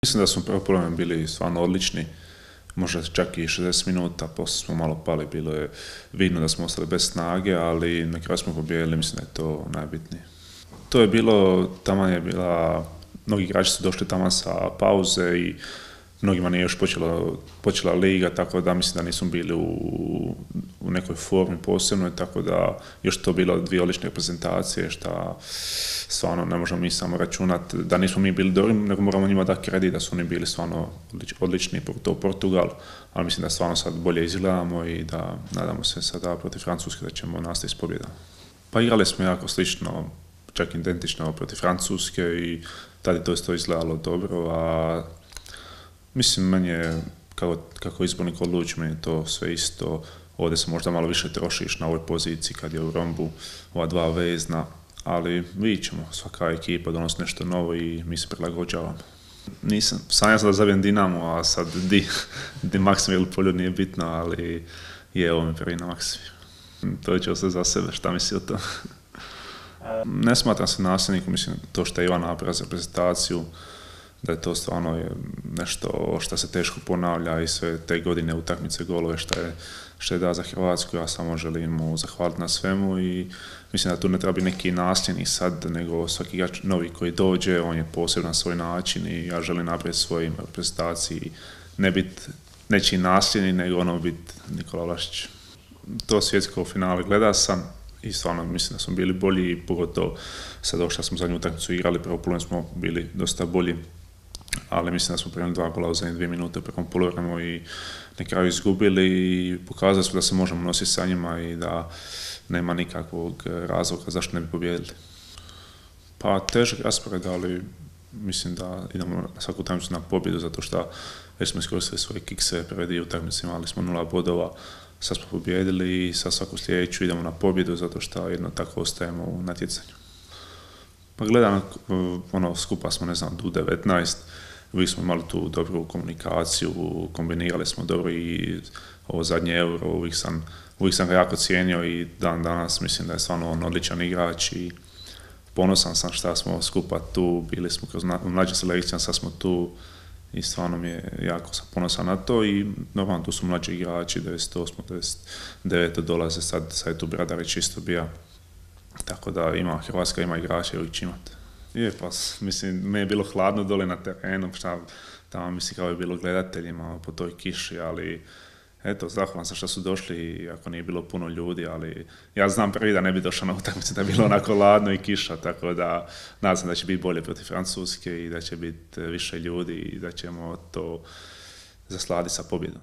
Mislim da smo prvo polovreme bili stvarno odlični, možda čak i 60 minuta, poslije smo malo pali, bilo je vidno da smo ostali bez snage, ali na kraju smo pobijedili, mislim da je to najbitnije. To je bilo, taman je bila, mnogi igrači su došli tamo sa pauze i mnogima nije još počela liga, tako da mislim da nismo bili u nekoj formi posebnoj, tako da još to bilo dvije odlične reprezentacije, što stvarno ne možemo mi samo računati da nismo mi bili dobri, nego moramo njima dati kredit da su oni bili stvarno odlični, to Portugal, ali mislim da stvarno sad bolje izgledamo i da nadamo se sada protiv Francuske da ćemo nastaviti s pobjedom. Pa igrali smo jako slično, čak identično protiv Francuske i tada je to isto izgledalo dobro, a mislim, meni je, kako izbornik odluči, meni je to sve isto. Ovdje se možda malo više trošiš na ovoj poziciji kad je u rombu ova dva vezna, ali vidit ćemo, svaka ekipa donosi nešto novo i mi se prilagođavamo. Sanjao sam da zavijem Dinamo, a sad di Maksimir ili Poljud nije bitno, ali je ovo mi prvi na Maksimir. To će ostati za sebe, šta misli o to? Ne smatram se nasljednikom, mislim to što je Ivan napravio za reprezentaciju, da je to stvarno nešto što se teško ponavlja i sve te godine utakmice, golove što je da za Hrvatsku. Ja samo želim mu zahvaliti na svemu i mislim da tu ne treba biti neki nasljednik sad, nego svaki igrač novi koji dođe, on je posebno na svoj način i ja želim napraviti svojim reprezentaciji, ne biti nečiji nasljednik, nego ono biti Nikola Vlašić. To svjetsko finale gleda sam i stvarno mislim da smo bili bolji, pogotovo sad ovo što smo zadnju utakmicu igrali, prvo polovreme smo bili dosta bolji, ali mislim da smo primili 2 gola u zadnje 2 minute prvom polovremenu i na kraju izgubili i pokazali smo da se možemo nositi sa njima i da nema nikakvog razloga zašto ne bi pobijedili. Pa težak raspored, ali mislim da idemo na svaku utakmicu na pobjedu zato što već smo iskoristili svoje kikse, prve dvije utakmice imali smo 0 bodova, sad smo pobijedili i sa svaku sljedeću idemo na pobjedu zato što jedno tako ostajemo u natjecanju. Pa gledam, skupa smo, ne znam, do 19, uvijek smo imali tu dobru komunikaciju, kombinirali smo dobro i ovo zadnje Euro, uvijek sam ga jako cijenio i dan danas mislim da je stvarno on odličan igrač i ponosan sam šta smo skupa tu, bili smo kroz mlađe selekcije, sad smo tu i stvarno mi je jako sam ponosan na to i normalno tu su mlađi igrači, 98. 99. dolaze, sad je tu Bradarić isto bija. Tako da Hrvatska ima igrače, uvijek će imati. Je, pa mislim, meni je bilo hladno dole na terenu, tamo mislim kao je bilo gledateljima po toj kiši, ali eto, zahvalan sam što su došli, iako nije bilo puno ljudi, ali ja znam prvi da ne bi došao na utakmicu da je bilo onako hladno i kiša, tako da nadam se da će biti bolje protiv Francuske i da će biti više ljudi i da ćemo to zasladiti sa pobjedom.